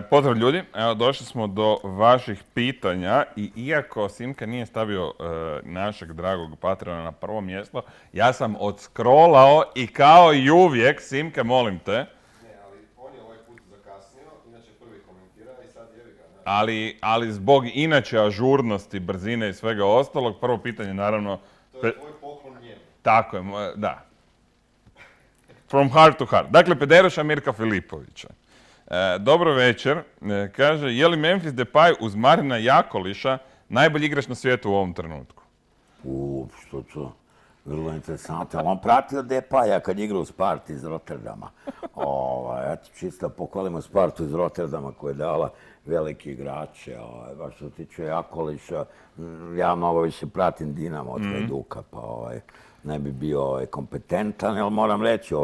Pozdrav ljudi, evo došli smo do vaših pitanja i iako Simka nije stavio našeg dragog patrona na prvo mjesto, ja sam odskrolao i kao i uvijek, Simke, molim te. Ne, ali on je ovaj put zakasnio, inače prvi komentira i sad jevi ga. Ali zbog inače ažurnosti, brzine i svega ostalog, prvo pitanje naravno... To je tvoj poklon njemu. Tako je, da. From heart to heart. Dakle, pederuša Mirka Filipovića. Dobro večer. Kaže, je li Memphis Depay uz Marina Jakoliša najbolji igrač na svijetu u ovom trenutku? Što to? Vrlo interesantno. On pratio Depaja kad igra u Sparti iz Rotterdama. Eto, čisto pohvalimo Spartu iz Rotterdama koja je dala veliki igrače. Baš što se tiče Jakoliša, ja mnogo više pratim Dinamo od Hajduka, pa ne bi bio kompetentan, jer moram reći,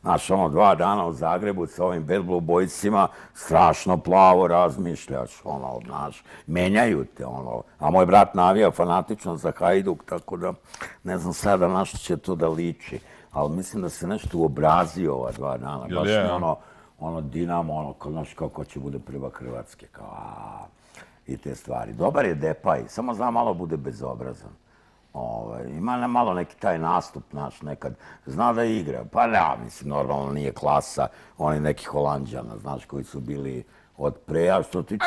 znaš, 2 dana u Zagrebu sa ovim Bad Blue Boysima, strašno plavo razmišljaš, znaš, menjaju te, a moj brat navija fanatično za Hajduk, tako da ne znam sada na što će to da liči, ali mislim da se nešto uobrazio ova 2 dana, baš mi Dinamo, znaš, kako će bude prvak Hrvatske, kao, i te stvari. Dobar je Depay, samo zna malo bude bezobrazan. Ima malo neki taj nastup naš nekad. Zna da igra. Pa ne, mislim, normalno nije klasa oni neki Holanđana, znaš, koji su bili od pre, a što tiče...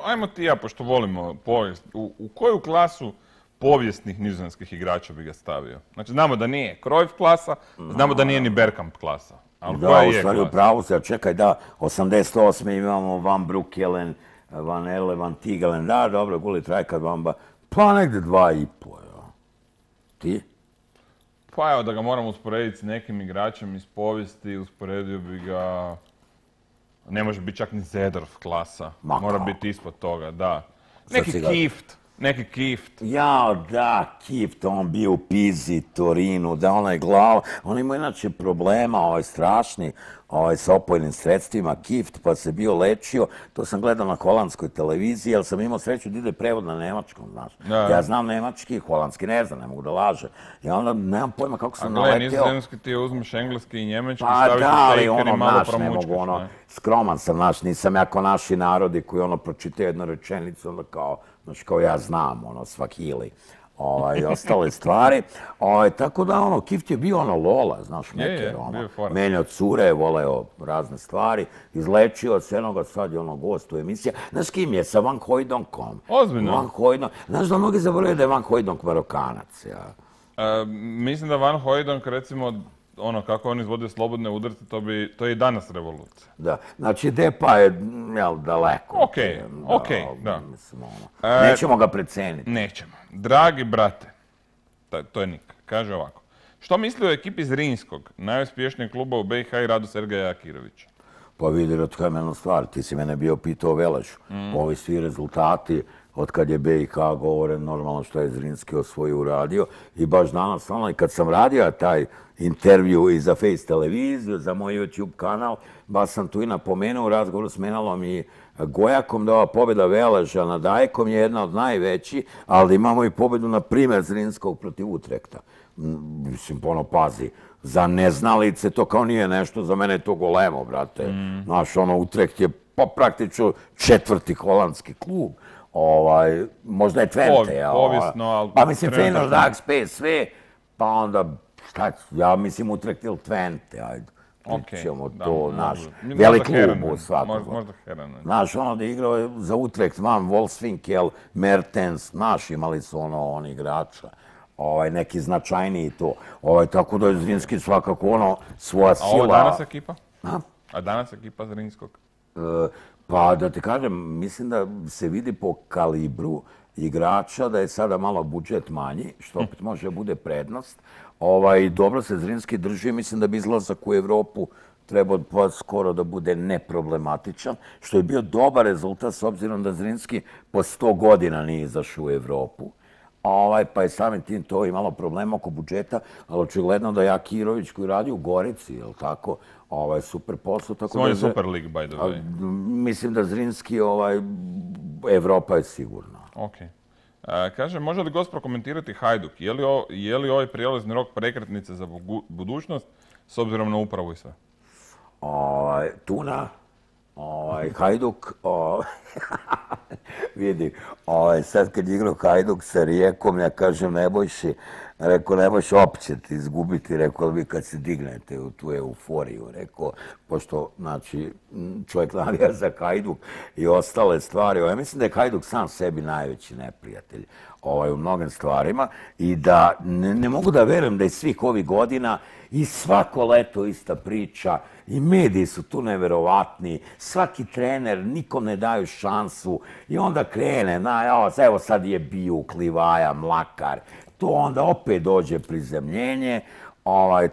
Ajmo ti ja, pošto volimo povijest. U koju klasu povijesnih nizozemskih igrača bi ga stavio? Znači, znamo da nije Cruyff klasa, znamo da nije ni Bergkamp klasa. Da, u stvari u pravu se, čekaj, da, 88. imamo Van Broekelen, Van Elle, Van Tigelen, da, dobro, Gullit, Rijkaard, Vamba, pa negde 2,5. Ti? Pa evo da ga moramo usporediti s nekim igračem iz povijesti, usporedio bi ga... Ne može biti čak ni Zedorf klasa. Mora biti ispod toga, da. Neki Kift. Jao, da, Kift, on bio u Pizi, Torinu, da onaj glav. On ima inače problema, strašni, sa opojnim sredstvima, Kift, pa se bio lečio. To sam gledao na holandskoj televiziji, jer sam imao sreću da ide prevod na nemačkom, znaš. Ja znam nemački, holandski ne znam, ne mogu da lažem. I onda nemam pojma kako sam naleteo. A gledaj, nizozemski ti uzmeš engleski i njemački, staviš u shaker i malo promučkaš. Skroman sam, znaš, nisam ja kao naši narodi koji pročitaju jednu rečenicu, onda kao, znaš, kao ja znam, Swahili. I ostale stvari. Tako da, Kift je bio Lola, znaš, meker, menjao cure, voleo razne stvari, izlečio se jednoga, sad je gost u emisija. Znaš kim je? Sa Van Hooijdonckom. Ozbiljno? Van Hooijdonk. Znaš da mnogi zaboravljaju da je Van Hooijdonk Marokanac, ja. Mislim da Van Hooijdonk, recimo, kako on izvodio slobodne udarce, to je i danas revolucija. Da, znači Depay je, daleko. Okej, da. Nećemo ga preceniti. Nećemo. Dragi brate, to je Nik, kaže ovako. Što misli o ekipi Zrinjskog, najuspješnijeg kluba u BiH i radu Sergeja Akirovića? Pa vidi, Ratkamenu stvar, ti si mene bio pitao o Velešu. Ovi svi rezultati, od kad je BiH govore normalno što je Zrinjski osvojio uradio. I baš danas, kad sam radio taj intervju i za Face televiziju, za moj YouTube kanal, baš sam tu i napomenuo u razgovoru s Menalom i Gojakom da ova pobjeda Veleža nad Ajkom je jedna od najvećih, ali imamo i pobjedu, na primjer, Zrinjskog protiv Utrekta. Mislim, pazi, za neznalice to kao nije nešto, za mene je to golemo, brate. Znaš, Utrekt je praktično 4. holandski klub. Možda je Twente. Povijesno, ali... Pa mislim, Feyenoord, Ajax, PSV, pa onda, ja mislim Utrecht ili Twente, ajde. Pričamo to, naš velik klub u svakog. Možda Heran. Znaš, da je igrao za Utrecht, Van Wolfswinkel, Mertens, naš, imali su oni igrača. Neki značajniji to. Tako da je Zrinjski svakako svoja sila... A ovo danas ekipa? A danas ekipa Zrinjskog? Pa da ti kažem, mislim da se vidi po kalibru igrača da je sada malo budžet manji, što opet može bude prednost. Dobro se Zrinjski drži, mislim da bi izlazak u Evropu trebao skoro da bude neproblematičan, što je bio dobar rezultat s obzirom da Zrinjski po 100 godina nije izašao u Evropu. Pa je samim tim to imalo problema oko budžeta, ali očigledno da je Akirović koji radi u Gorici, je li tako, super posao. Svoj Super League, by the way. Mislim da Zrinjski, Evropa je sigurna. Okej. Kaže, može li gost prokomentirati Hajduk? Je li ovaj prijelazni rok prekretnice za budućnost s obzirom na upravu i sve? Tuna, Hajduk, vidi, sad kad igrao Hajduk sa Rijekom, ja kažem Nebojši, rekao, Nebojš, opet ćete izgubiti, rekao, vi kad se dignete u tu euforiju, rekao, pošto, znači, čovjek navija za Hajduk i ostale stvari, ja mislim da je Hajduk sam sebi najveći neprijatelj u mnogim stvarima i da ne mogu da verujem da je svih ovih godina i svako leto ista priča i mediji su tu neverovatni, svaki trener, nikom ne daju šansu i onda krene, evo sad je Bijuk, Livaja, Mlakar, to onda opet dođe prizemljenje,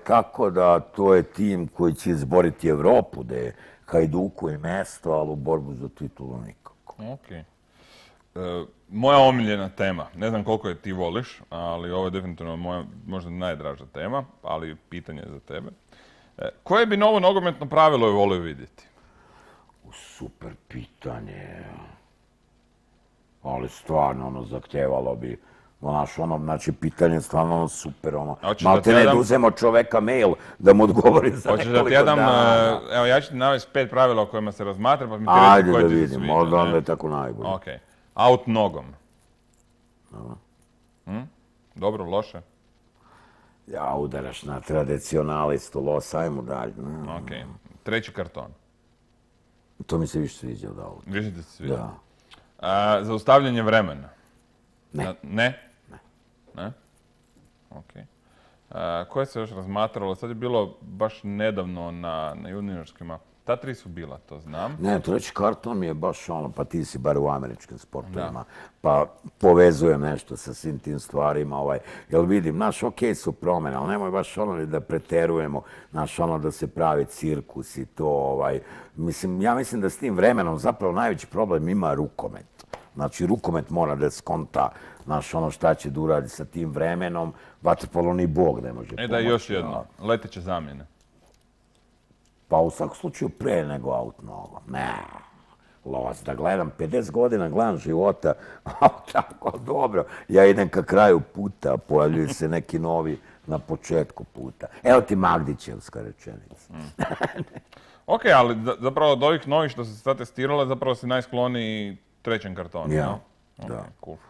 tako da to je tim koji će izboriti Evropu, da je Hajduku i mesto, ali u borbu za titulu nikako. Okej. Moja omiljena tema, ne znam koliko je ti voliš, ali ovo je definitivno moja možda najdraža tema, ali pitanje za tebe. Koje bi novo nogometno pravilo je volio vidjeti? Super pitanje. Ali stvarno, zahtevalo bi, znači, pitanje je stvarno super, malte ne da uzemo čoveka mail da mu odgovori za nekoliko dana. Evo, ja ću ti navesti 5 pravila o kojima se razmatra, pa mi ti reći koje ti se sviđa. Ajde da vidim, možda onda je tako najbolje. Okej. Out nogom. Dobro, loše? Ja, udaraš na tradicionalistu, los, ajmo dalje. Okej. Treći karton. To mi se više sviđa od auta. Više ti se sviđa? Da. Zaustavljanje vremena. Ne. Ne? Ne? Okej. Koje se još razmatralo? Sad je bilo baš nedavno na juniorskima. Ta 3 su bila, to znam. Ne, treći karton mi je baš pa ti si bar u američkim sportovima, pa povezujem nešto sa svim tim stvarima, jel vidim, okej su promjene, ali nemoj baš da preterujemo, da se pravi cirkus i to, mislim, ja mislim da s tim vremenom zapravo najveći problem ima rukomet. Znači, rukomet mora da skonta, šta će da uradi sa tim vremenom, vaterpolo ni Bog ne može pomoći. Da, još jedno, leteće zamjene. Pa u svakom slučaju pre nego aut nogom. Ne, los, da gledam 50 godina, gledam života, tako dobro, ja idem ka kraju puta, pojavljuju se neki novi na početku puta. Evo ti Magdićevska rečenica. Ok, ali zapravo od ovih novih što se sad testirala, zapravo si najskloniji trećem kartonu. Ja, da.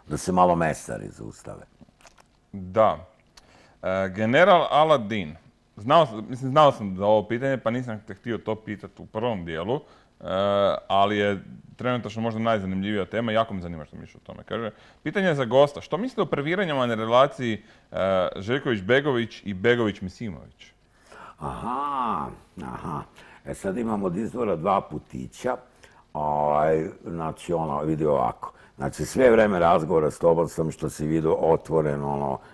Da se malo mesari zaustave. Da. General Aladin. Znao sam za ovo pitanje, pa nisam te htio to pitati u prvom dijelu, ali je trenutačno možda najzanimljivija tema, jako me zanima što misliš o tome. Kaže, pitanje je za gosta, što mislite o previranjama na relaciji Željković-Begović i Begović-Misimović? Aha. Sad imamo od izvora 2 putića, znači vidi ovako. Znači, sve vreme razgovora s tobom sam, što si vidio, otvoren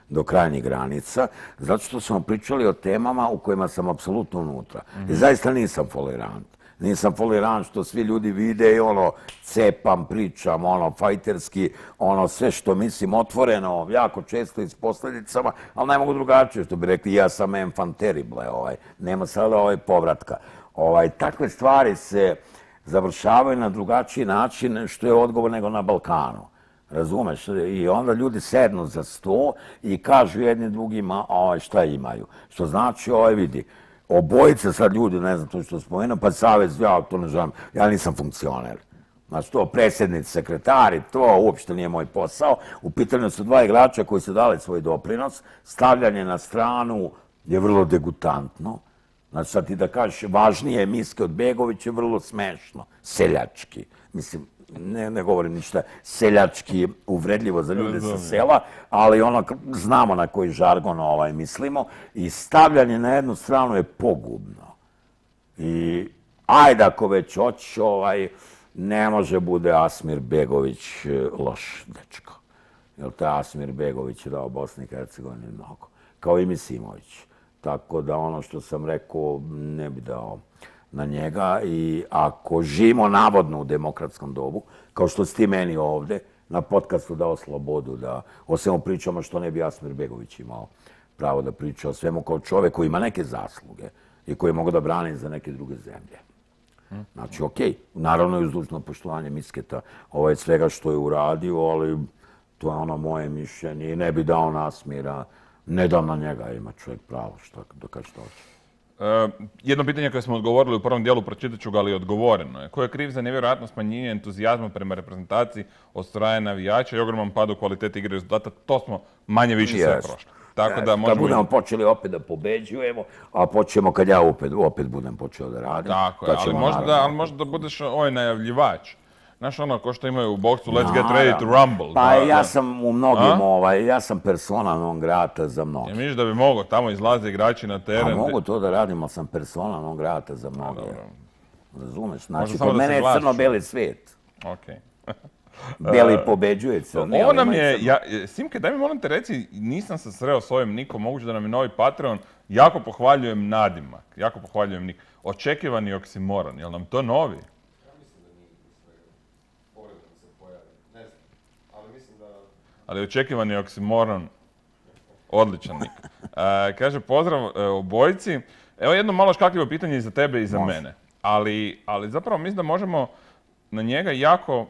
do krajnjih granica, zato što smo pričali o temama u kojima sam apsolutno unutra. I zaista nisam folirant. Nisam folirant što svi ljudi vide i cepam, pričam, fajterski, sve što mislim otvoreno, jako često i s posljedicama, ali ne mogu drugačije, što bi rekli, ja sam enfant terrible, nema sada povratka. Takve stvari se završavaju na drugačiji način što je odgovor nego na Balkanu. Razumeš? I onda ljudi sednu za sto i kažu jedni drugima šta imaju. Što znači, vidi, obojice sad ljudi, ne znam to što spomenuo, pa savez, ja to ne želim, ja nisam funkcioner. Znači to predsjednici, sekretari, to uopšte nije moj posao. U pitanju su 2 igrača koji su dali svoj doprinos. Stavljanje na stranu je vrlo degutantno. Znači sad ti da kažeš važnije miske od Begovića je vrlo smešno, seljački. Mislim, ne govorim ništa seljački uvredljivo za ljude sa sela, ali znamo na koji žargon mislimo i stavljanje na jednu stranu je pogubno. I ajde ako već hoćeš, ne može bude Asmir Begović loš dečko. Jer taj Asmir Begović je dao Bosni i Hercegovini mnogo, kao i Misimović. Tako da ono što sam rekao ne bi dao na njega i ako živimo navodno u demokratskom dobu, kao što si ti meni ovde, na podcastu dao slobodu da o svemu pričamo što ne bi Asmir Begović imao pravo da priča o svemu kao čovjek koji ima neke zasluge i koji mogu da brani za neke druge zemlje. Znači, okej, naravno i uz dužno poštovanje Misketa svega što je uradio, ali to je moje mišljenje i ne bi dao na Asmira. Ne dam na njega, ima čovjek pravo, da kaže što hoće. Jedno pitanje koje smo odgovorili u prvom dijelu, pročitat ću ga, ali odgovoreno je. Ko je kriv za nevjerojatno smanjenje entuzijazma prema reprezentaciji od strane navijača i ogroman pad u kvaliteti igre i rezultata? To smo manje više sve prošli. Tako da možemo... Kad budemo počeli opet da pobeđujemo, a počnemo kad ja opet budem počeo da radim. Tako je, ali možda da budeš ovaj najavljivač. Znaš ono, ko što imaju u boksu, let's get ready to rumble. Pa ja sam u mnogim, ja sam persona non grata za mnoge. Misliš da bi mogao, tamo izlaze igrači na teren? A mogu to da radim, ali sam persona non grata za mnoge. Razumeš? Znači, kod mene je crno-beli svijet. Okej. Beli pobeđuje crni. Ovo nam je, Simke, daj mi molim te reci, nisam se sreo s ovim nikom, moguće da nam je novi Patreon, jako pohvaljujem nadimak, jako pohvaljujem nik. Očekivani oksimoron, jel nam to novi? Ali očekivani oksimoron, odličan nik. Kaže, pozdrav obojici. Evo jedno malo škakljivo pitanje i za tebe i za mene. Ali zapravo mislim da možemo na njega jako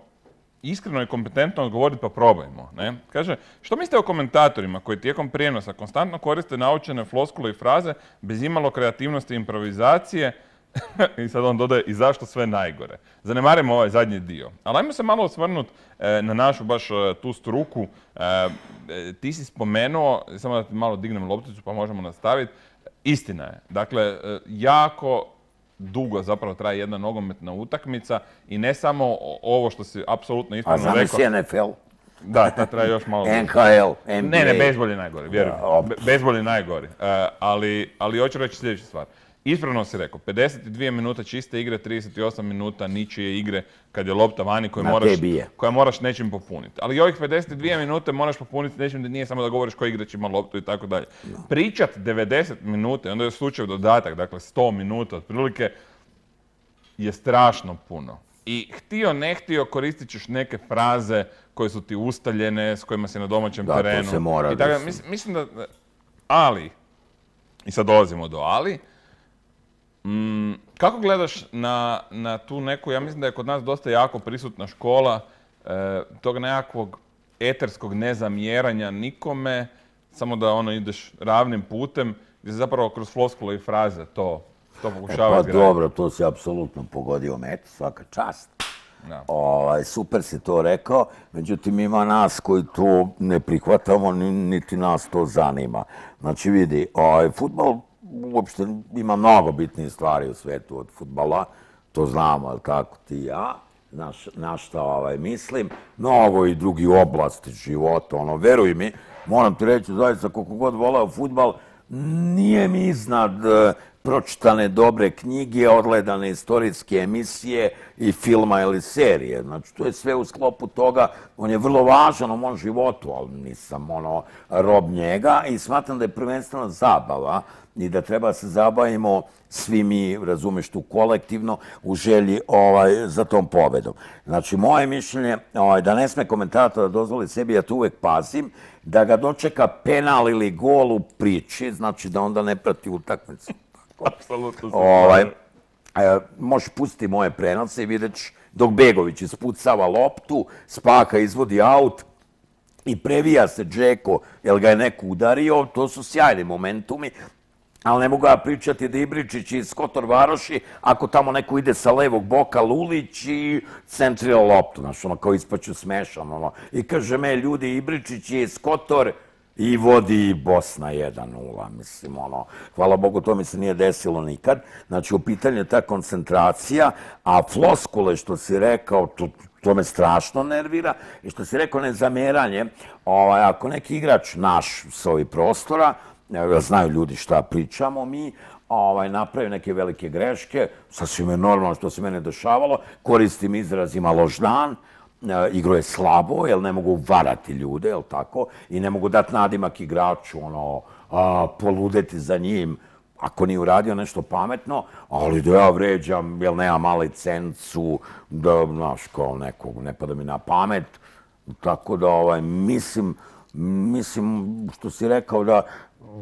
iskreno i kompetentno odgovoriti, pa probajmo. Ne? Kaže, što mislite o komentatorima koji tijekom prijenosa konstantno koriste naučene floskule i fraze bez imalo kreativnosti i improvizacije? I sad on dodaje, i zašto sve najgore. Zanemarimo ovaj zadnji dio. Ali ajmo se malo osvrnuti na našu baš tu struku. Ti si spomenuo, samo da ti malo dignem lopticu pa možemo nastaviti. Istina je. Dakle, jako dugo zapravo traje jedna nogometna utakmica i ne samo ovo što si apsolutno ispravno rekao. A znam si NFL? Da, ta traje još malo. NHL, NBA. Ne, bejzbol je najgori, vjerujem. Bejzbol je najgori. Ali hoću reći sljedeću stvar. Ispravno si rekao, 52 minuta čiste igre, 38 minuta ničije igre kad je lopta vani koja moraš nečim popuniti. Ali i ovih 52 minute moraš popuniti nečim da nije samo da govoriš koji igrač ima loptu i tako dalje. Pričat 90 minuta, onda je slučaj dodatak, dakle 100 minuta otprilike, je strašno puno. I htio, ne htio, koristit ćeš neke fraze koje su ti ustaljene, s kojima si na domaćem terenu. Da, to se mora. Mislim da... Ali, i sad dolazimo do ali, kako gledaš na tu neku, ja mislim da je kod nas dosta jako prisutna škola tog nekakvog eterskog nezamjeranja nikome, samo da ono ideš ravnim putem, gdje se zapravo kroz floskule i fraze to pokušava izgraditi. Pa dobro, to si apsolutno pogodio met, svaka čast. Super si to rekao, međutim ima nas koji to ne prihvatamo, niti nas to zanima. Znači vidi, fudbal uopšte ima mnogo bitnije stvari u svijetu od fudbala, to znamo, ali tako ti i ja, na šta mislim, mnogo i drugi oblasti života, veruj mi, moram ti reći zaista koliko god voleo fudbal, nije mi iznad pročitane dobre knjige, odgledane istorijske emisije i filma ili serije. Znači, to je sve u sklopu toga. On je vrlo važan u mom životu, ali nisam rob njega i smatram da je prvenstveno zabava i da treba se zabavimo svi mi, razumeš tu, kolektivno u želji za tom pobedom. Znači, moje mišljenje da ne sme komentator da dozvoli sebi, ja to uvek pazim, da ga dočeka penal ili gol u priči, znači da onda ne prati utakmicu. Apsolutno. Možeš pustiti moje prenose i vidjet ćeš dok Begović ispucava loptu, Spaka izvodi aut i previja se Džeko, jer ga je neko udario, to su sjajni momentumi, ali ne mogu ja pričati da Ibričić iz Kotor Varoši, ako tamo neko ide sa levog boka, Lulić i centrira loptu, znaš, kao ispaću smešan, i kaže me, ljudi, Ibričić je iz Kotor i vodi Bosna 1:0, mislim, hvala Bogu, to mi se nije desilo nikad. Znači, u pitanju je ta koncentracija, a floskule, što si rekao, to me strašno nervira, i što si rekao, nezameranje, ako neki igrač naš s ovih prostora, znaju ljudi šta pričamo mi, napravi neke velike greške, sasvim je normalno što se mene dešavalo, koristim izraz ima loš dan, igro je slabo, jer ne mogu varati ljude, jel tako, i ne mogu dati nadimak igraču, poludeti za njim, ako nije uradio nešto pametno, ali da ja vređam, jer nemam licencu, da, znaš, kao nekog, ne pada mi na pamet, tako da, mislim, što si rekao da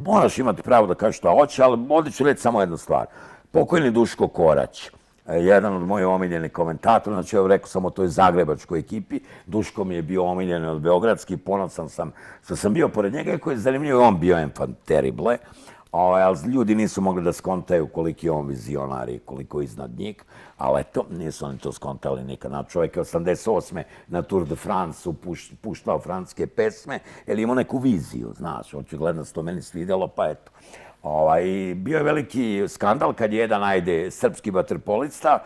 moraš imati pravo da kažeš šta hoće, ali ovdje ću reći samo jednu stvar. Pokojni Duško Korać, jedan od mojih omiljenih komentatora, znači ja rekao sam o toj zagrebačkoj ekipi, Duško mi je bio omiljen od beogradski, ponosan sam što sam bio pored njega, koji je zanimljivo, on bio enfant terrible, Ali ljudi nisu mogli da skontaju koliki je on vizionar i koliko je iznad njih, ali eto, nisu oni to skontali nikad. Čovjek je 88. na Tour de France puštao francuske pesme, jer imao neku viziju, znaš, očigledno se to meni svidjelo, pa eto. Bio je veliki skandal kad je jedan, srpski vaterpolista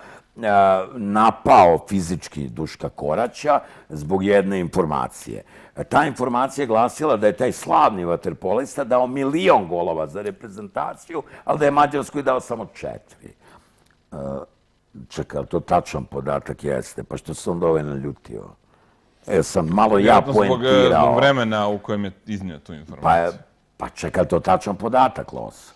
napao fizički Duška Koraća zbog jedne informacije. Ta informacija je glasila da je taj slavni vaterpolista dao 1.000.000 golova za reprezentaciju, ali da je Mađarskoj dao samo 4. Čekaj, to tačan podatak jeste, pa što sam dovoljno ljutio? Sam malo ja poentirao. Zbog vremena u kojem je iznio tu informaciju. Pa čekaj, to tačan podatak, Los.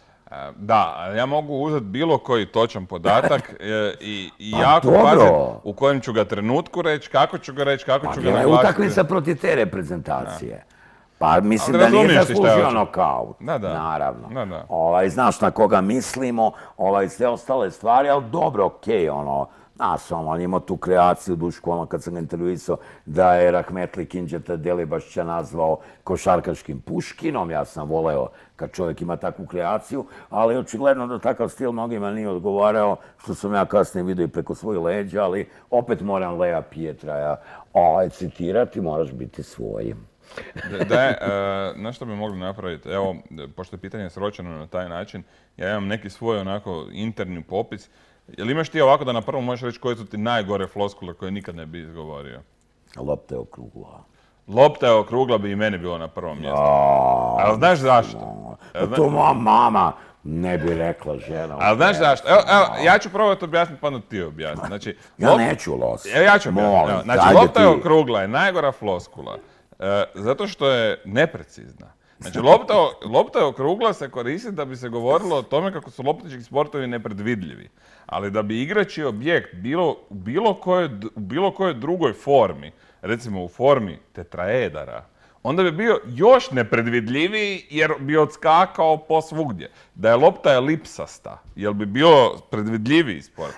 Da, ja mogu uzeti bilo koji točan podatak i jako pazim u kojem ću ga trenutku reći, kako ću ga reći, kako ću ga naglasiti. Pa utakmica protiv te reprezentacije. Pa mislim da nije zaslužio nokaut. Naravno. Znaš na koga mislimo, sve ostale stvari, ali dobro, okej, znaš, on imao tu kreaciju, Duško, kad sam ga intervjuisao, da je Rahmetli Kinđeta Delibašća nazvao košarkaškim Puškinom. Ja sam voleo kad čovjek ima takvu kreaciju, ali očigledno da takav stil mnogima nije odgovarao, što sam ja kasnije vidio i preko svojih leđa, ali opet moram Lea Pietraja citirati, moraš biti svojim. Na što bi mogli napraviti? Evo, pošto je pitanje sročeno na taj način, ja imam neki svoj onako interni popis. Jel imaš ti ovako da na prvom možeš reći koje su ti najgore floskule koje nikad ne bi izgovorio? Lopta je okrugla. Lopta je okrugla bi i meni bilo na prvom mjestu. Ali znaš zašto? To moja mama ne bi rekla žena. Ali znaš zašto? Evo, ja ću probati objasniti pa onda ti objasniti. Znači, ja neću, Los. Ja ću objasniti. Znači, lopta je okrugla je najgora floskula. Zato što je neprecizna. Znači, lopta je okrugla se koristi da bi se govorilo o tome kako su loptički sportovi nepredvidljivi. Ali da bi igrači objekt u bilo kojoj drugoj formi, recimo u formi tetraedara, onda bi bio još nepredvidljiviji jer bi odskakao posvugdje. Da je lopta elipsasta, jel bi bio predvidljiviji sport?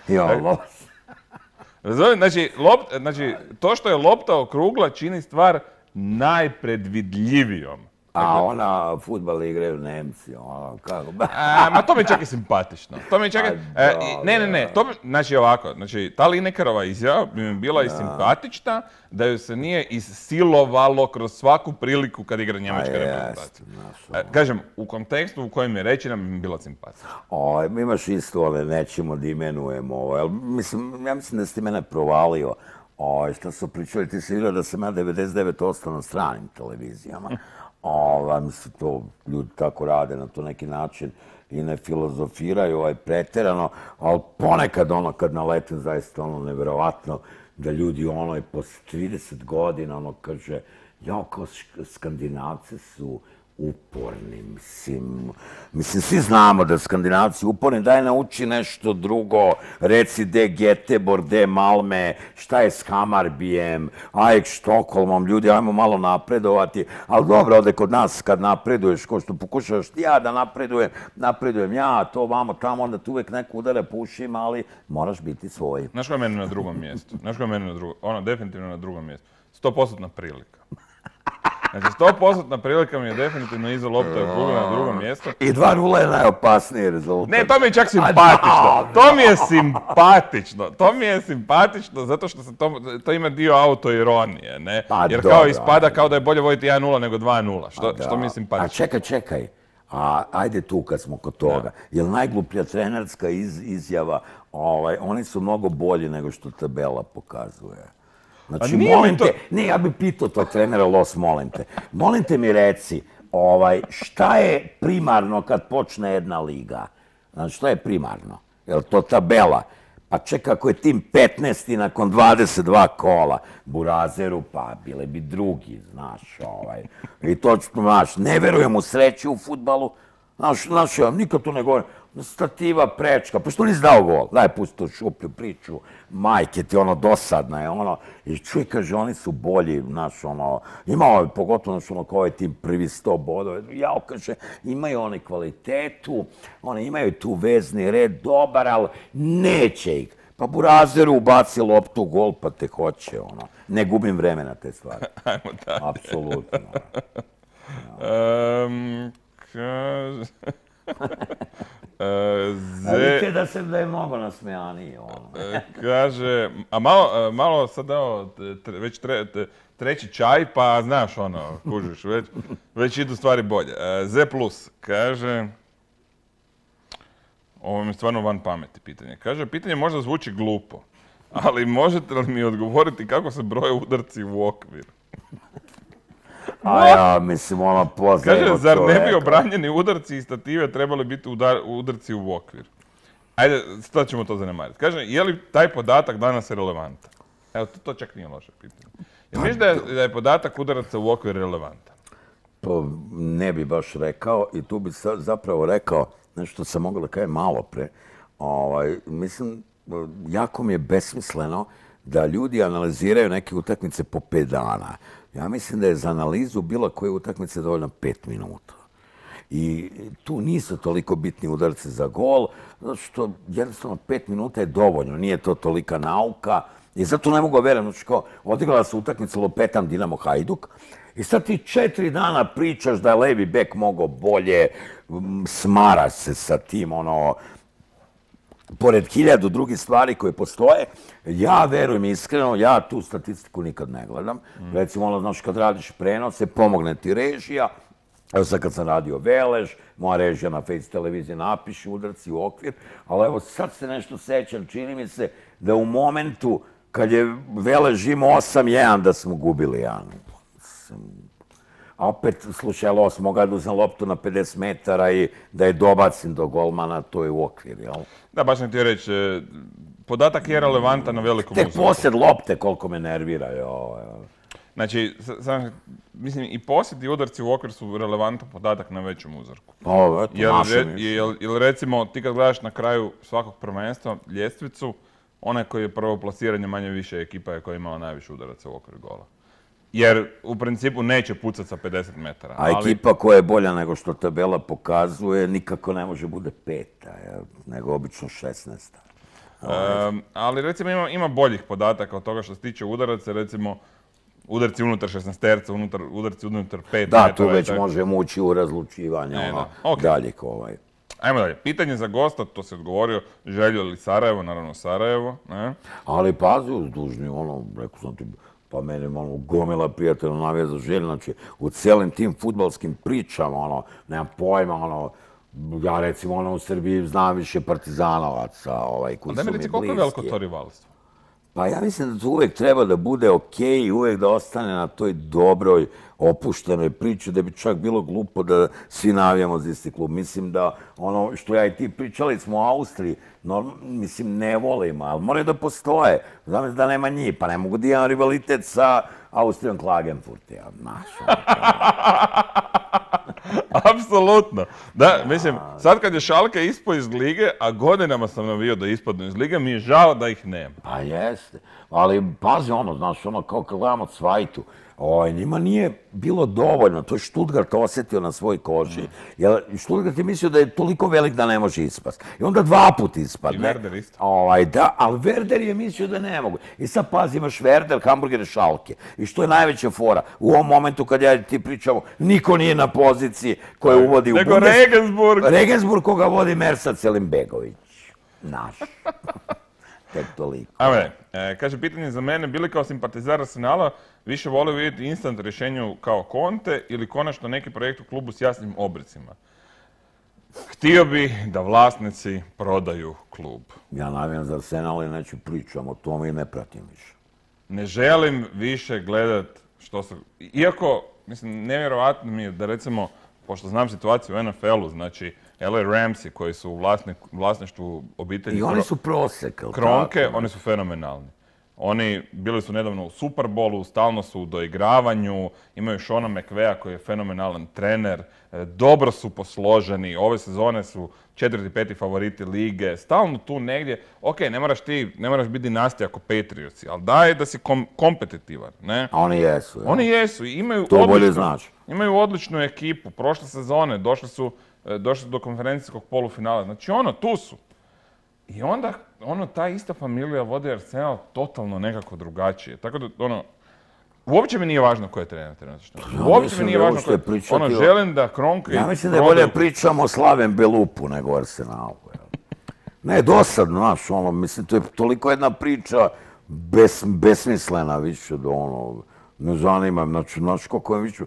Znači, to što je lopta okrugla čini stvar najpredvidljivijom. A ona fudbal igraju Nemci, kako? Ma to mi je čak i simpatično. Ne. Znači ovako, ta Linekerova izjava bi mi bila i simpatična da ju se nije isilovalo kroz svaku priliku kad igra njemačka reprezentacija. Kažem, u kontekstu u kojem je rečena bi mi bila simpatična. Imaš isto, nećemo da imenujemo. Ja mislim da si mene provalio. Što su pričali, ti si vidio da sam ja 99% na stranim televizijama. Mislim, to ljudi tako rade na to neki način i ne filozofiraju preterano, ali ponekad kad naletim zaista nevjerovatno da ljudi posle 30 godina kaže kao Skandinavci su uporni, mislim, svi znamo da Skandinavci uporni, daj nauči nešto drugo, reci de Göteborg, de Malme, šta je s Hammarbyjem, Ajax Štokholmom, ljudi, ajmo malo napredovati, ali dobro, ovde kod nas kad napreduješ, ko što pokušaš ti ja da napredujem ja, to vamo tamo, onda tu uvek neko udara po ušima, ali moraš biti svoj. Znaš koja je meni na drugom mjestu? Definitivno na drugom mjestu. 100% prilika. Znači, 100% prilika mi je definitivno iza lopta okrugla na drugom mjestu. I 2:0 je najopasniji rezultat. Ne, to mi je čak simpatično. To mi je simpatično zato što to ima dio autoironije, ne? Jer kao ispada kao da je bolje voditi 1:0 nego 2:0, što mi je simpatično. A čekaj. Ajde tu kad smo kod toga. Jer najgluplja trenerska izjava, oni su mnogo bolji nego što tabela pokazuje. Znači, molim te, ja bih pitao tog trenera, Los, molim te. Molim te mi reci, šta je primarno kad počne jedna liga? Znači, šta je primarno? Je li to tabela? Pa čekaj, ako je tim 15. nakon 22 kola, Burazeru, pa bile bi drugi, znaš, I točno, znaš, ne verujem u sreću u fudbalu, znaš, ja nikad tu ne govorim, stativa prečka, pa što nisi dao gol? Daj, pusti tu šuplju priču, majke ti, dosadna je, i čuj, kaže, oni su bolji, znaš, imao, pogotovo, znaš, kao je tim prvi 100 bodova, jao, kaže, imaju oni kvalitetu, oni imaju tu vezni red, dobar, ali neće ih. Pa Burazeru ubaci loptu u gol, pa te hoće, ne gubim vreme na te stvari. Ajmo dalje. Apsolutno. vidite da je mnogo nasmejaniji. Kaže, a malo sad evo, već treći čaj, pa znaš kužiš, već idu stvari bolje. Z+, kaže, ovo mi je stvarno van pameti pitanje. Kaže, pitanje možda zvuči glupo, ali možete li mi odgovoriti kako se broje udarci u okvir? A ja, mislim, poznaje Kaže, zar ne bi obranjeni udarci i stative trebali biti udarci u okvir? Ajde, sad ćemo to zanemariti. Kaže, je li taj podatak danas relevantan? Evo, to čak nije loše pitanje. Jel misliš da je podatak udaraca u okvir relevantan? To ne bi baš rekao i tu bi zapravo rekao nešto sam mogao da kažem malo pre. Mislim, jako mi je besmisleno da ljudi analiziraju neke utakmice po 5 dana. Ja mislim da je za analizu bilo koje utakmice dovoljno 5 minuta. I tu nisu toliko bitni udarci za gol, zato što jednostavno 5 minuta je dovoljno, nije to tolika nauka. I zato ne mogu verujem, znači kao odigrala se utakmica Lupetam Dinamo Hajduk i sad ti 4 dana pričaš da je levi bek mogao bolje, smara se sa tim, pored 1000 drugih stvari koje postoje. Ja verujem iskreno, ja tu statistiku nikad ne gledam. Recimo, znaš, kad radiš prenose, pomogne ti režija. Evo sad kad sam radio Velež, moja režija na Face televiziji napiše udarci u okvir, ali evo sad se nešto sećam, čini mi se da u momentu kad je Velež imao 8-1 da smo gubili, a opet, slušaj, mogu da uzem loptu na 50 metara i da je dobacim do golmana, to je u okvir, jel? Da, baš sam ti reći, podatak je relevantan na velikom uzorku. Tek posjed lopte koliko me nervira, Znači, mislim, i posjed i udarci u okvir su relevantan podatak na većem uzorku. Jer recimo, ti kad gledaš na kraju svakog prvenstva ljestvicu, onaj koji je prvo plasiranje manje više ekipa je koja je imala najviše udaraca u okvir gola. Jer u principu neće pucati sa 50 metara. A ekipa koja je bolja nego što tabela pokazuje nikako ne može bude 5, nego obično 16. Ali recimo ima boljih podataka od toga što se tiče udaraca, recimo udarci unutar 16-terca, udarci unutar 5 metara. Da, tu već možemo ući u razlučivanje daljeg. Ajmo dalje. Pitanje za gosta, to se odgovorio, Željo ili Sarajevo, naravno Sarajevo. Ali pazi, uzdužni, rekao sam ti, pa meni gomila prijatelja navija za Želj, znači u cijelim tim fudbalskim pričama, nemam pojma, ja recimo u Srbiji znam više partizanovaca koji su mi bliski. A da mi reci, koliko je veliko to rivalstvo? Pa ja mislim da to uvijek treba da bude okej i uvijek da ostane na toj dobroj, opuštenoj priči, da bi čak bilo glupo da svi navijamo za isti klub. Mislim da ono što ja i ti pričali smo u Austriji, mislim ne volimo, ali moraju da postoje. Znam da nema njih, pa ne mogu da imam rivalitet sa Austrijom Klagenfurt, znaš. Apsolutno. Da, mislim, sad kad je Schalke ispao iz lige, a godinama sam navio da ispadnu iz lige, mi je žao da ih nema. Pa jeste. Ali pazi znaš, kao kad gledamo Cvajtu, njima nije bilo dovoljno, to je Stuttgart osjetio na svoj koži, jer Stuttgart je mislio da je toliko velik da ne može ispast. I onda 2 puta ispadne. I Werder isto. Da, ali Werder je mislio da ne mogu. I sad pazi, imaš Werder, Hamburger i Schalke. I što je najveća fora? U ovom momentu kad ja ti pričamo, niko nije na poziciji koja uvodi u Nego Regensburg. Regensburg koga vodi Mersat Selimbegović. Naš. Tek toliko. Kaže, pitanje za mene, bili kao simpatizar Arsenala, više volio vidjeti instant rješenju kao Conte ili konačno neki projekt u klubu s jasnim obricima? Htio bi da vlasnici prodaju klub. Ja navijam za Arsenal i neću pričam o tome i ne pratim više. Ne želim više gledat što se... Iako, mislim, nevjerovatno mi je da recimo, pošto znam situaciju u NFL-u, znači LA Ramsi koji su u vlasništvu obitelji... I oni su prosek, Kronke, oni su fenomenalni. Oni bili su nedavno u Super Bowlu, stalno su u doigravanju, imaju Seana McVeya koji je fenomenalan trener, dobro su posloženi, ove sezone su 4. i 5. favoriti lige, stalno tu negdje. Ok, ne moraš biti dinastija ako Patriotsi, ali daj da si kompetitivan, ne? A oni jesu. Oni jesu i imaju odličnu ekipu. Prošle sezone došli su do konferencijskog polufinala. Znači tu su. I onda, ta ista familija vodi Arsenal totalno nekako drugačije. Tako da, uopće mi nije važno ko je trener trenutačno. Uopće mi nije važno ko je... želim da Kronke... Ja mislim da je bolje pričamo o Slaven Belupu nego o Arsenalu. Ne, dosadno, znaš, ono, mislim, to je toliko jedna priča besmislena više da, ono, ne zanima, znači, znaš koliko je više,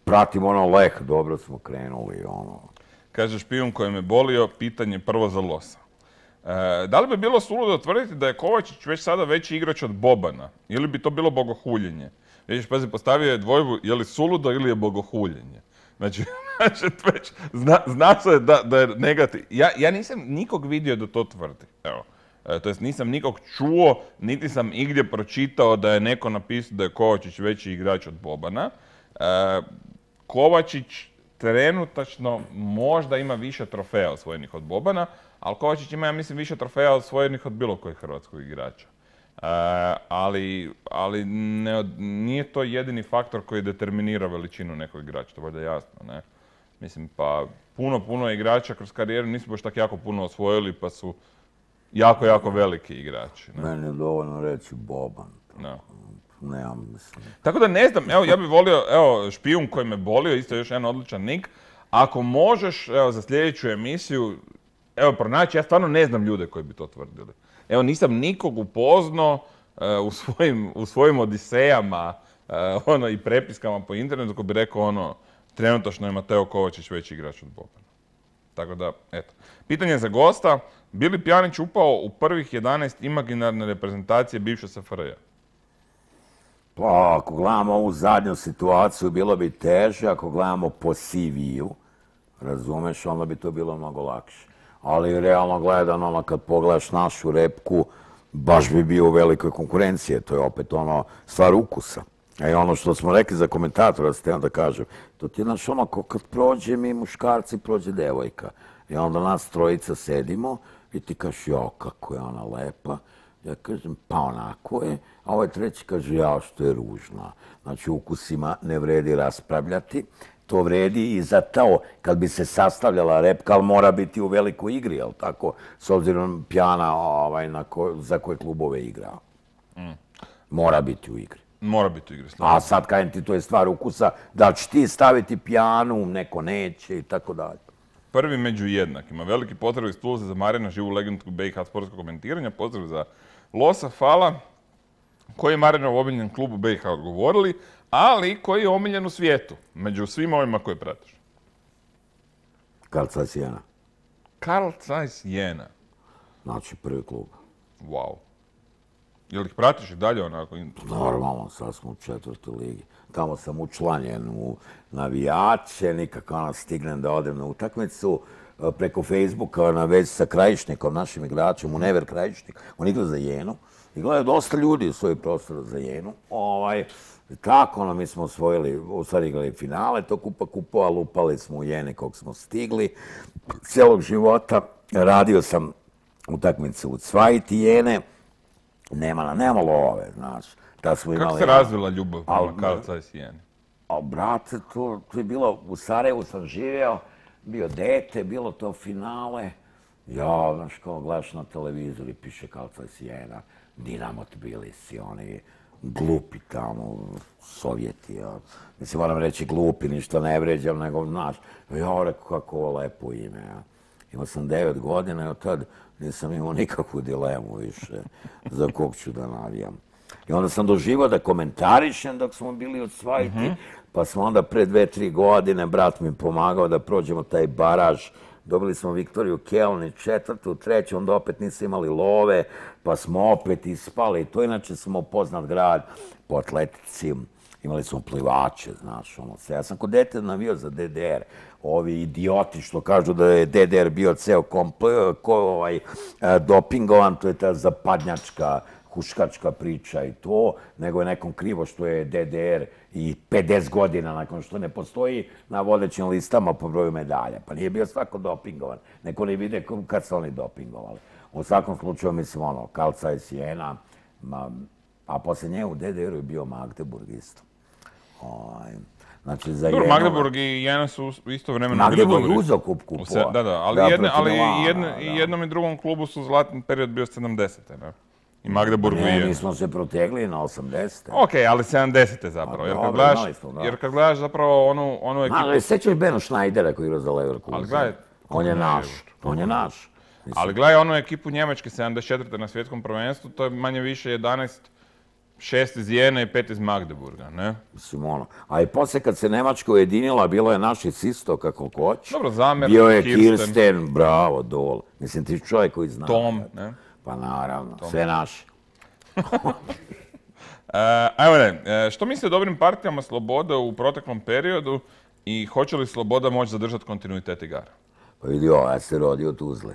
pratim ono Leh, dobro smo krenuli, ono. Kaže špijun koji me bolio, pitanje prvo za Losa. Da li bi bilo suludo tvrditi da je Kovačić već sada veći igrač od Bobana? Ili bi to bilo bogohuljenje? Vidiš, pazi, postavio je dvojbu, je li suludo ili je bogohuljenje? Znači, već zna se da je negativ. Ja nisam nikog vidio da to tvrdi. Evo. To jest nisam nikog čuo, niti sam igdje pročitao da je neko napisao da je Kovačić veći igrač od Bobana. Kovačić trenutačno možda ima više trofeja osvojenih od Bobana, ali Kovačić ima, ja mislim, više trofeja osvojenih od bilo kojeg hrvatskog igrača. Ali nije to jedini faktor koji determinira veličinu nekog igrača, to je valjda jasno, ne? Mislim, pa puno igrača kroz karijeru nisu baš tako jako puno osvojili, pa su jako veliki igrači. Ne? Meni je dovoljno reći Boban. No. Nemam, mislim. Tako da ne znam, evo, ja bih volio, evo, špijun koji me bolio, isto još jedan odličan nik. Ako možeš, evo, za sljedeću emisiju, evo, pronaći, ja stvarno ne znam ljude koji bi to tvrdili. Evo, nisam nikog upoznao u svojim odisejama, i prepiskama po internetu koji bi rekao, trenutačno je Mateo Kovačić veći igrač od Bobana. Tako da, eto. Pitanje za gosta, bi li Pjanić upao u prvih 11 imaginarne reprezentacije bivše SFRJ? Pa, ako gledamo ovu zadnju situaciju, bilo bi teže, ako gledamo po CV-u, razumeš, onda bi to bilo mnogo lakše. Ali realno gledano, kad pogledaš našu repku, baš bi bio u velikoj konkurenciji, to je opet stvar ukusa. I ono što smo rekli za komentatora, ste da kažem, to ti je znaš kad prođe mi muškarci, prođe devojka. I onda nas trojica sedimo i ti kažeš, jo, kako je ona lepa. Ja kažem, pa onako je, a ovaj treći kaže, ja, što je ružna. Znači, ukusima ne vredi raspravljati. To vredi i za to, kad bi se sastavljala repka, ali mora biti u velikoj igri, jel tako? S obzirom Pjana za koje klubove igrao. Mora biti u igri. Mora biti u igri. A sad, kajem ti, to je stvar ukusa, da ćeš ti staviti Pjanu, neko neće i tako dalje. Prvi među jednakima. Veliki pozdrav iz Tulsa za Marina, živu legendu BiH sportskog komentiranja. Pozdrav za Losa, Fala, koji je Marinov omiljen klub u BiH odgovorili, ali koji je omiljen u svijetu, među svima ovima koje pratiš. Carl Zeiss Jena. Carl Zeiss Jena. Znači, prvi klub. Wow. Jel ih pratiš i dalje onako? Normalno, sad smo u 4. ligi. Tamo sam učlanjen u navijače, nikako stignem da odem na utakmicu. Preko Facebooka na vezi sa Krajišnikom, našim igračem, u Never Krajišnik. On igra za Jenu. I gledaju dosta ljudi u svoj prostor za Jenu. Tako, mi smo osvojili, u stvari igrali finale, to kupova, lupali smo u Jene kog smo stigli. Cijelog života radio sam utakmice u Cvajti Jene. Nema love, znaš. Kako se razvila ljubav prema Carl Zeiss Jeni? Brate, to je bilo, u Sarajevu sam živeo, bio dete, bilo to finale. Ja, znaš, kao gledaš na televizoru i piše Carl Zeiss Jena, Dinamo Tbilisi, oni glupi tamo, Sovjeti, ja. Mislim, moram reći glupi, ništa ne vređam, nego, znaš, ja rekao kako ovo lepo ime, ja. Imao sam 9 godina i od tad nisam imao nikakvu dilemu više za kog ću da navijam. I onda sam doživao da komentarišem dok smo bili od Cvajti, pa smo onda pre 2-3 godine, brat mi pomagao da prođemo taj baraž. Dobili smo Viktoriju Kelni, 4., 3., onda opet nisu imali love, pa smo opet ispali. To inače smo poznat grad po atletici. Imali smo plivače, znaš, sve. Ja sam kod dete navio za DDR. Ovi idioti što kažu da je DDR bio ceo dopingovan, to je ta zapadnjačka, huškačka priča i to, nego je nekom krivo što je DDR i 50 godina nakon što ne postoji na vodećim listama po broju medalja. Pa nije bio svako dopingovan. Neko ne vide kad su oni dopingovali. U svakom slučaju, mislim, Carl Zeiss Jena, a poslije nje u DDR-u je bio Magdeburg isto. Znači, za Jenu... Magdeburg i Jena su isto vremeno bili dobri. Magdeburg uzeo kup kupova. Da, ali jednom i drugom klubu su zlatni period bio 70-te, ne? I Magdeburgu i Jenu. Ne, mi smo se protegli na 80-te. Okej, ali 70-te zapravo. Jer kad gledaš zapravo onu ekipu... Ali sećaš Beno Schneidera koji igra za Leverkusen? Ali gledaj... On je naš. Ali gledaj onu ekipu Njemačke 74. na svjetskom prvenstvu, to je manje više 11, 6 iz Jene i 5 iz Magdeburga, ne? Mislim, a i poslije kad se Nemačka ujedinila, bilo je naših isto kako hoć. Dobro, Zamer, bio je Kirsten, bravo, dol. Mislim, ti čovjek koji zna. Tom, ne? Pa naravno, sve naši. Ajmo ne, što misli o dobrim partijama Slobode u proteklom periodu i hoće li Sloboda moći zadržati kontinuitet igara? Pa vidi ovo, ja se rodio u Tuzli.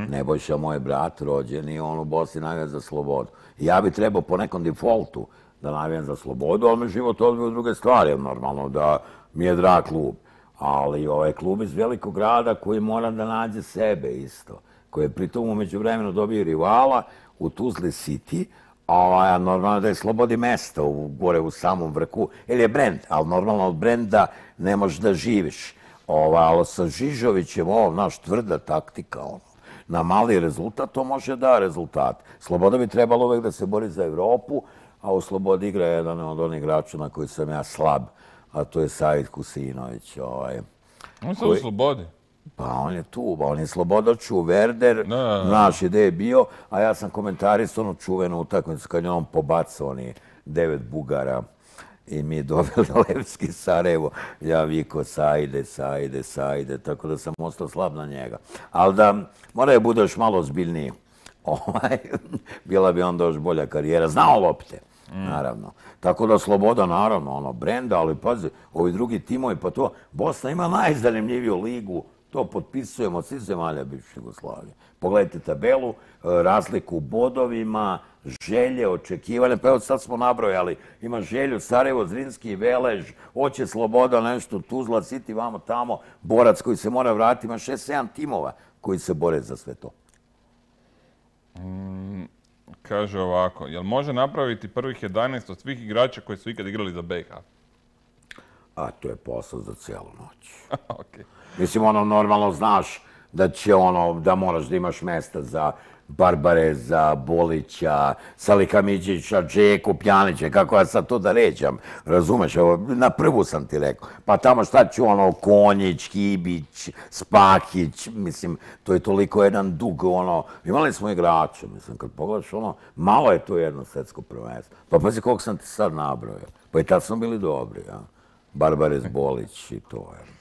Nebojša, moj brat, rođen i on u Bosni navijam za Slobodu. Ja bi trebao po nekom defaultu da navijam za Slobodu, ali me život odvio u druge stvari, normalno da mi je drag klub. Ali ovaj klub iz velikog grada koji mora da nađe sebe isto, koji je pritom umeđu vremenu dobio rivala u Tuzli City, a normalno da je Slobodi mesto gore u samom vrhu, ili je brend, ali normalno od brenda ne možeš da živiš. Ali sa Žižovićem, naš tvrda taktika, na mali rezultat, to može da rezultat. Sloboda bi trebalo uvek da se bori za Evropu, a u Slobodi igra jedan od onih igrača na koji sam ja slab, a to je Said Kusinović. On se u Slobodi? Pa on je tu, on je Slobodaču, Werder, naš ide je bio, a ja sam komentarist onu čuvenu utakmicu kad je on pobacao oni 9 Bugara i mi dobili Levski Sarajevo. Ja viko Saide, tako da sam ostao slab na njega. Ali da mora je bude još malo ozbiljniji. Bila bi onda još bolja karijera. Znao lopte, naravno. Tako da Sloboda, naravno, brenda, ali pazi, ovi drugi timovi, pa to, Bosna ima najzanimljiviju ligu, to potpisujemo od svih zemalja bivše Jugoslavije. Pogledajte tabelu, razliku u bodovima, želje, očekivanja, pa evo sad smo nabrojali, ima želju Sarajevo, Zrinski, Velež, hoće Sloboda, nešto, Tuzla, City, vamo tamo, borac koji se mora vratiti, ima 6-7 timova koji se bore za sve to. Kaže ovako, jel može napraviti prvih 11 od svih igrača koji su ikad igrali za BiH? A to je posao za cijelu noć. Okay. Mislim, normalno znaš da će da moraš da imaš mesta za Barbareza, Bolića, Salika Midžića, Džeku, Pjanića, kako ja sad to da ređam, razumeš, na prvu sam ti rekao. Pa tamo šta ću Konjić, Kibić, Spahić, mislim, to je toliko jedan dug, imali smo igrača, mislim, kad pogledaš malo je to jedno svetsko prvenstvo. Pa pazi koliko sam ti sad nabrojao, pa i tad smo bili dobri, ja. Barbarez, Bolić i to, je.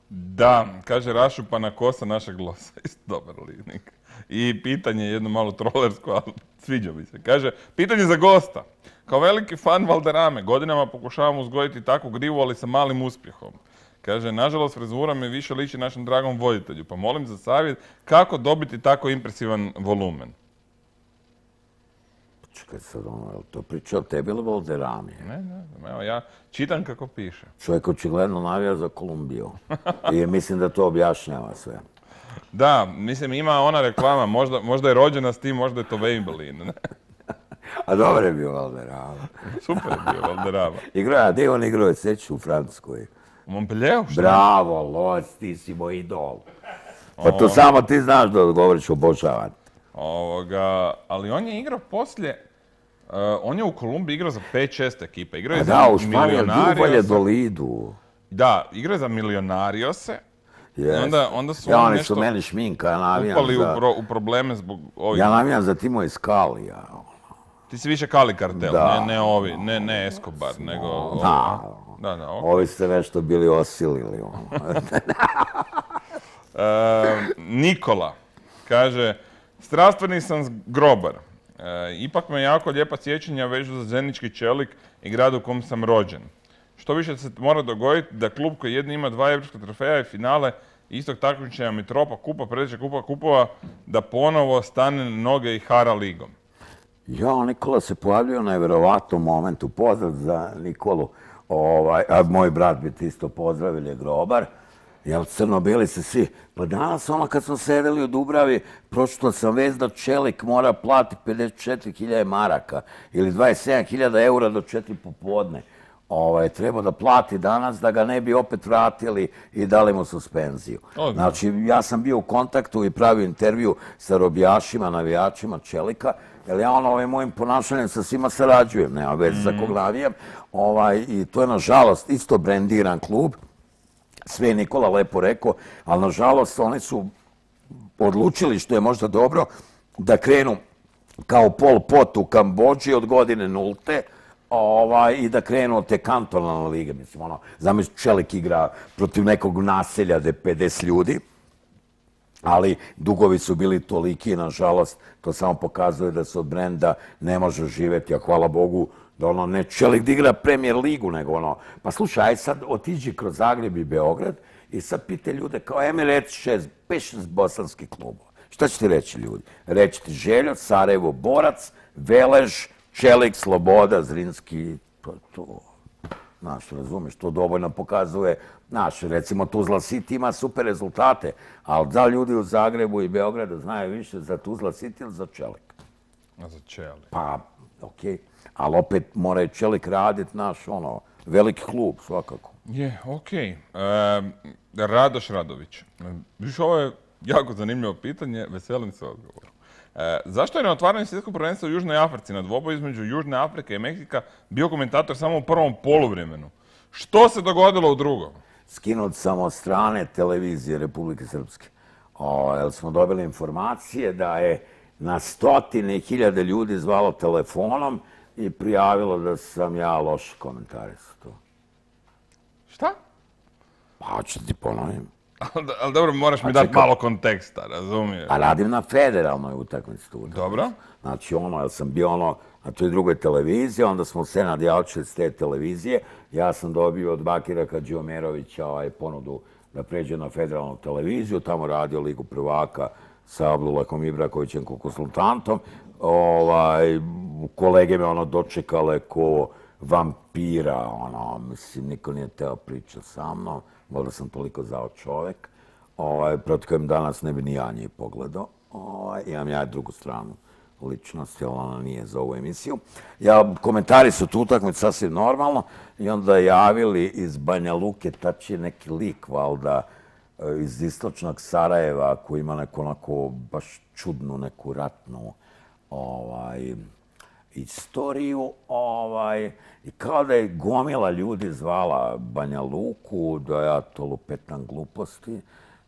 Da, kaže Rašupana kosa našeg losa, isto dobar linik. I pitanje jedno malo trolersko, ali sviđa mi se. Kaže, pitanje za gosta. Kao veliki fan Valderrame, godinama pokušavam uzgojiti takvu grivu, ali sa malim uspjehom. Kaže, nažalost, frizura me više liči našem dragom voditelju, pa molim za savjet kako dobiti tako impresivan volumen. Čekaj sad, to priča o tebi ili Valderrami? Ne, evo ja čitam kako piše. Čovjek očigledno navija za Kolumbiju. I mislim da to objašnjava sve. Da, mislim ima ona reklama, možda je rođena s tim, možda je to Maybelline. A dobro je bio Valderrama. Super je bio Valderrama. Igrao, gdje on igrao, seću u Francuskoj. U Montpellieru? Bravo, Loc, ti si moj idol. Pa to samo ti znaš da govoriš obožavan. Ali on je igrao poslije, on je u Kolumbiji igrao za 5-6 ekipa. Igrao je za Milionariose. Do Lidu. Da, igrao je za Milionariose. Onda su oni nešto meni šminka, ja navijam upali u probleme zbog ovih. Ja navijam za Timo iz Kali, ja. Ti si više Kali kartel, ne ovi, ne Escobar, nego ovi. Da, ovi ste nešto bili osilili. Nikola kaže, strastveni sam grobar. Ipak me jako lijepa sjećanja vežu za Zenički Čelik i grad u kom sam rođen. Što više se mora dogoditi da klub koji jedni ima 2 evropska trofeja i finale istog takmičenja Mitropa kupa, predsjednička kupa kupova, da ponovo stane na noge i hara ligom. Ja, Nikola se pojavljio na nevjerovatnom momentu. Pozdrav za Nikolu. A moj brat bi ti isto pozdravili, je grobar. Jel, crno-bili se svi. Pa danas, kad smo sedeli u Dubravi, pročitao sam vez da Čelik mora plati 54.000 maraka ili 27.000 eura do 4 popodne. Treba da plati danas da ga ne bi opet vratili i dali mu suspenziju. Znači, ja sam bio u kontaktu i pravio intervju sa robijašima, navijačima Čelika, jer ja ovim mojim ponašanjem sa svima sarađujem, nema veze za kog navijam. I to je, nažalost, isto brendiran klub. Sve je Nikola lepo rekao, ali nažalost oni su odlučili, što je možda dobro, da krenu kao Pol Pot u Kambodži od godine nulte, i da krenu od te kantonalne lige. Mislim, zamisli Čelik igra protiv nekog naselja gde 50 ljudi, ali dugovi su bili toliki, nažalost, to samo pokazuje da se od brenda ne može živeti, a hvala Bogu da ne Čelik da igra Premier ligu, nego pa slušaj, aj sad otiđi kroz Zagreb i Beograd i sad pite ljude kao, mi reći 5-6 bosanskih klubova. Šta će ti reći ljudi? Reći ti Željo, Sarajevo, Borac, Velež, Čelik, Sloboda, Zrinski, to. Znaš, razumiješ, to dovoljno pokazuje, znaš, recimo Tuzla City ima super rezultate, ali da ljudi u Zagrebu i Beogradu znaju više za Tuzla City ili za Čelik? A za Čelik. Pa, okej, ali opet mora i Čelik raditi, znaš, veliki klub, svakako. Je, okej. Radoš Radović. Viš, ovo je jako zanimljivo pitanje, veselim se odgovoru. Zašto je na otvaranju svjetskog prvenstva u Južnoj Africi na dvoboj između Južne Afrike i Meksika bio komentator samo u prvom poluvremenu? Što se dogodilo u drugom? Skinut sam od strane televizije Republike Srpske. Jer smo dobili informacije da je na 100.000 ljudi zvalo telefonom i prijavilo da sam ja loš komentarisao to. Šta? Pa, hoću ti ponovim. Ali dobro, moraš mi dati malo konteksta, razumiješ? A radim na federalnoj utakmici tu. Dobro. Znači, jer sam bio na toj drugoj televiziji, onda smo se nadjavčili s te televizije. Ja sam dobio od Bakira Hadžiomerovića ponudu da pređe na federalnu televiziju, tamo radio Ligu prvaka sa Abdullahom Ibrakovićem kao konsultantom. Kolege me dočekale ko vampira, mislim, niko nije teo pričati sa mnom, valjda sam toliko zao čovek, protiv kojem danas ne bi ni ja njih pogledao. Imam ja drugu stranu ličnosti, ali ona nije za ovu emisiju. Komentari su tu utakmicu sasvim normalno i onda javili iz Banja Luke, tač je neki lik, valjda, iz istočnog Sarajeva, koji ima neku onako baš čudnu, neku ratnu istoriju, i kao da je gomila ljudi zvala Banja Luku, da ja to lupetam gluposti,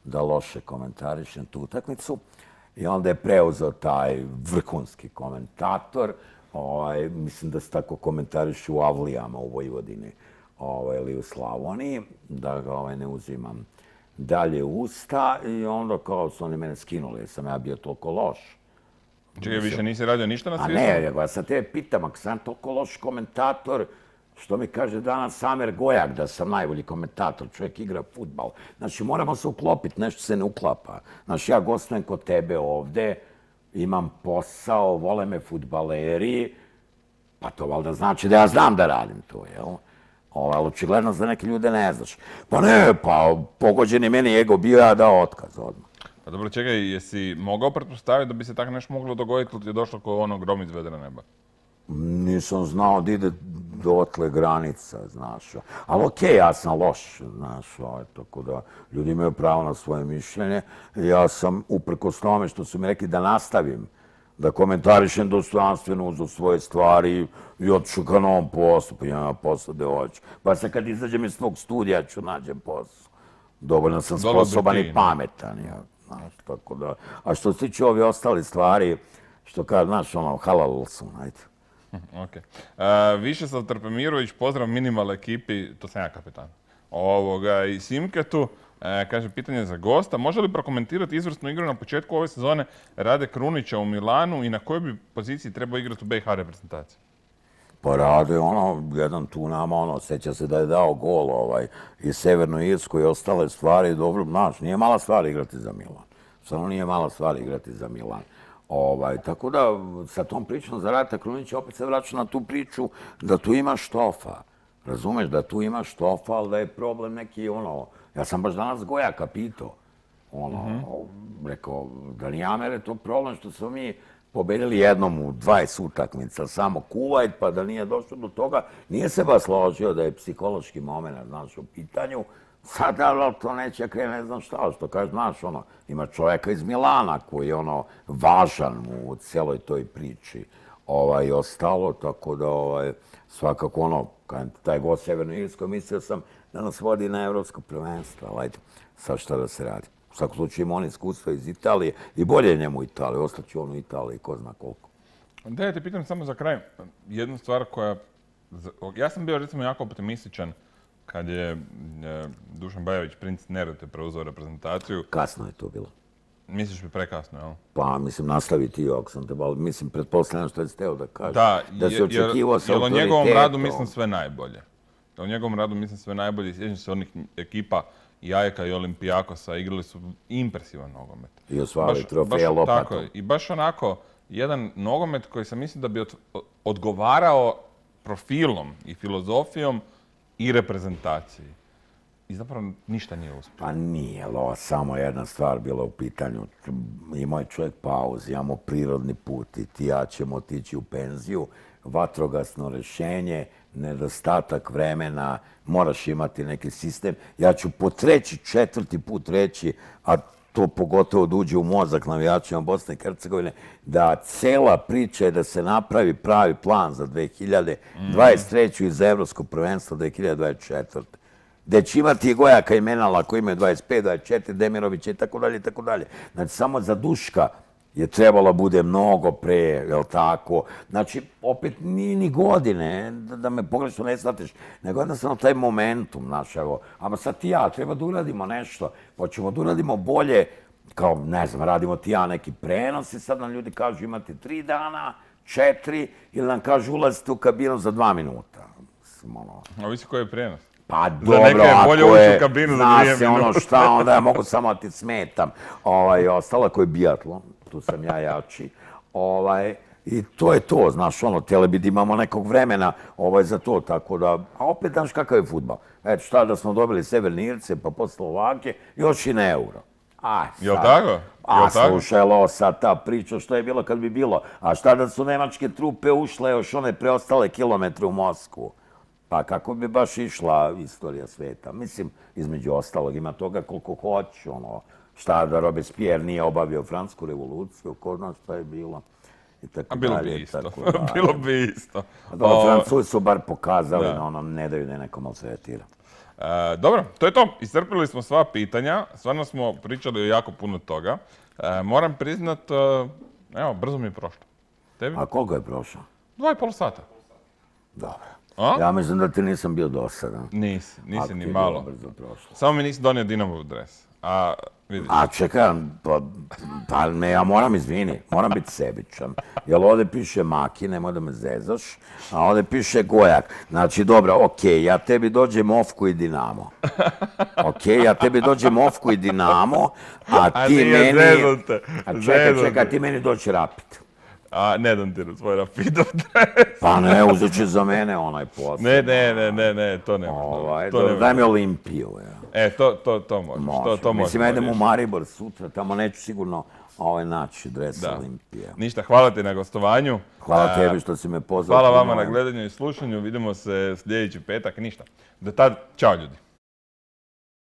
da loše komentarišem tu utakmicu. I onda je preuzeo taj vrhunski komentator, mislim da se tako komentariše u Avlijama u Vojvodini ili u Slavoniji, da ga ne uzimam dalje u usta, i onda kao su oni mene skinuli, jer sam ja bio toliko loš. Čekaj, više nisi radio ništa na svijetu? A ne, ja sad tebe pitam, ako sam toliko loš komentator, što mi kaže danas Samer Gojak da sam najbolji komentator, čovjek igra fudbal. Znači, moramo se uklopiti, nešto se ne uklapa. Znači, ja gostujem kod tebe ovde, imam posao, vole me fudbaleri, pa to valjda znači da ja znam da radim to, jel? Ali očigledno za neke ljude ne znaš. Pa ne, pa pogođeni meni ego bio, ja dao otkaz odmah. Pa dobro, čekaj, jesi mogao pretpostaviti da bi se tako nešto moglo dogoditi ili ti je došlo kao ono grom iz vedra neba? Nisam znao da ide dotle granica, znaš. Ali okej, ja sam loš, znaš, tako da ljudi imaju pravo na svoje mišljenje. Ja sam, uprkos tome što su mi rekli da nastavim, da komentarišem dostojanstveno uz svoje stvari i otišu ka novom poslu, pa imam posao gde hoću. Pa sad kad izađem iz svog studija ću nađem posao. Dovoljno sam sposoban i pametan, znaš, tako da. A što se tiče ovi ostali stvari, što kaže, znaš, halal sam, ajde. Ok. Višeslav Trpemirović, pozdrav minimal ekipi, to sam ja kapitan. I Simketu, kaže, pitanje za gosta. Može li prokomentirati izvrsnu igru na početku ove sezone Rade Krunića u Milanu i na kojoj bi poziciji trebao igrati u BiH reprezentaciji? Pa Rade, jedan tu nama, sjeća se da je dao gol i Severnu Irsku i ostale stvari. Dobro, znaš, nije mala stvar igrati za Milan. Samo nije mala stvar igrati za Milan. Tako da, sa tom pričom za Rata Krunića opet se vraća na tu priču da tu ima štofa. Razumeš, da tu ima štofa, ali da je problem neki, ja sam baš danas Gojaka pitao. Rekao, da nije Amere to problem što smo mi pobedili jednom u 20 utakmica, samo Kuvajt, pa da nije došlo do toga. Nije se baš složio da je psihološki moment, znaš, u pitanju. Sad, ali to neće krene, ne znam šta, što kaže, znaš, ima čovjeka iz Milana koji je važan u cijeloj toj priči i ostalo, tako da svakako taj gost Severno Irsko, mislio sam da nas vodi na evropsko prvenstvo, ali ajde, sad šta da se radi. U svakom slučaju ima on iskustva iz Italije i bolje je njemu u Italiji, ostaće on u Italiji, ko zna koliko. Da, ja te pitam samo za kraj, jednu stvar koja... Ja sam bio recimo jako optimističan kad je Dušan Bajović, princ Neretve, preuzeo reprezentaciju. Kasno je to bilo. Misliš bi prekasno, jel? Pa, mislim, nastavi ti ako sam te bavio. Mislim, pretpostavljam što je steo da kaže. Da, da se očekivao sa jer o njegovom radu autoritetom. mislim sve najbolje. O njegovom radu mislim sve najbolje. Sjećam se onih ekipa i Ajeka i Olimpijakosa, igrali su impresivan nogomet. I osvali trofeja lopatom. Tako, i baš onako, jedan nogomet koji sam mislim da bi odgovarao profilom i filozofijom i reprezentaciji. I zapravo ništa nije uspio. Pa nije, samo jedna stvar bila u pitanju. Imao je čovjek pauzu, imamo prirodni put i ti ja ćemo otići u penziju, vatrogasno rješenje, nedostatak vremena, moraš imati neki sistem. Ja ću po četvrti put reći, a to pogotovo da uđe u mozak navijačima Bosne i Hercegovine, da cela priča je da se napravi pravi plan za 2023. i za Evropsko prvenstvo 2024. Gde će imati Gojaka i Menala koji imaju 25, 24, Demirovića i tako dalje, i tako dalje. Znači, samo za Duška je trebalo bude mnogo pre, jel tako? Znači, opet nije ni godine, da me pogrešno ne shvatiš, nego jednostavno taj momentum, znaš, evo, ama sad ti ja, treba da uradimo nešto, hoćemo da uradimo bolje, kao, ne znam, radimo ti ja neki prenos i sad nam ljudi kažu imate 3 dana, 4, ili nam kažu ulazite u kabinu za 2 minuta. Ovisi koji je prijenos. Pa dobro, ako je, zna se ono šta, onda ja mogu samo da ti smetam. Ostalo ako je biatlon, tu sam ja jači. I to je to, znaš, tele bi da imamo nekog vremena za to, tako da, a opet, znaš, kakav je fudbal. Eto, šta da smo dobili Severne Irce, pa posle Slovake, još i na euro. Jel' tako? A slušaj, sad ta priča što je bilo kad bi bilo. A šta da su nemačke trupe ušle još one preostale kilometre u Moskvu? Pa kako bi baš išla istorija sveta? Mislim, između ostalog, ima toga koliko hoću, šta da Robespierre nije obavio Francusku revoluciju, ko zna šta je bilo. A bilo bi isto, bilo bi isto. Francuzi su bar pokazali da ne daju da neko maltretira. Dobro, to je to. Iscrpili smo sva pitanja, stvarno smo pričali o jako puno toga. Moram priznat, evo, brzo mi je prošlo. Tebi? A koliko je prošlo? 2,5 sata. Dobro. Ja mislim da ti nisam bio dosadan. Nisi ni malo. Samo mi nisi donio Dinamov dres. A čekaj, pa ne, ja moram moram biti sebičan. Jer ovdje piše Maki, nemoj da me zezaš, a ovdje piše Gojak. Znači, dobro, okej, ja tebi dođem Ofku i Dinamo. A ti meni... Čekaj, ti meni doći Rapid. A ne dam ti svoj Rapidov dres. Pa ne, uzet će za mene onaj posao. Ne, to nema. Daj mi Olimpiju. To možeš. Mislim, ja idem u Maribor sutra, tamo neću sigurno naći dres Olimpije. Ništa, hvala ti na gostovanju. Hvala tebi što si me pozvao. Hvala vama na gledanju i slušanju. Vidimo se sljedeći petak. Ništa. Do tad, čao ljudi.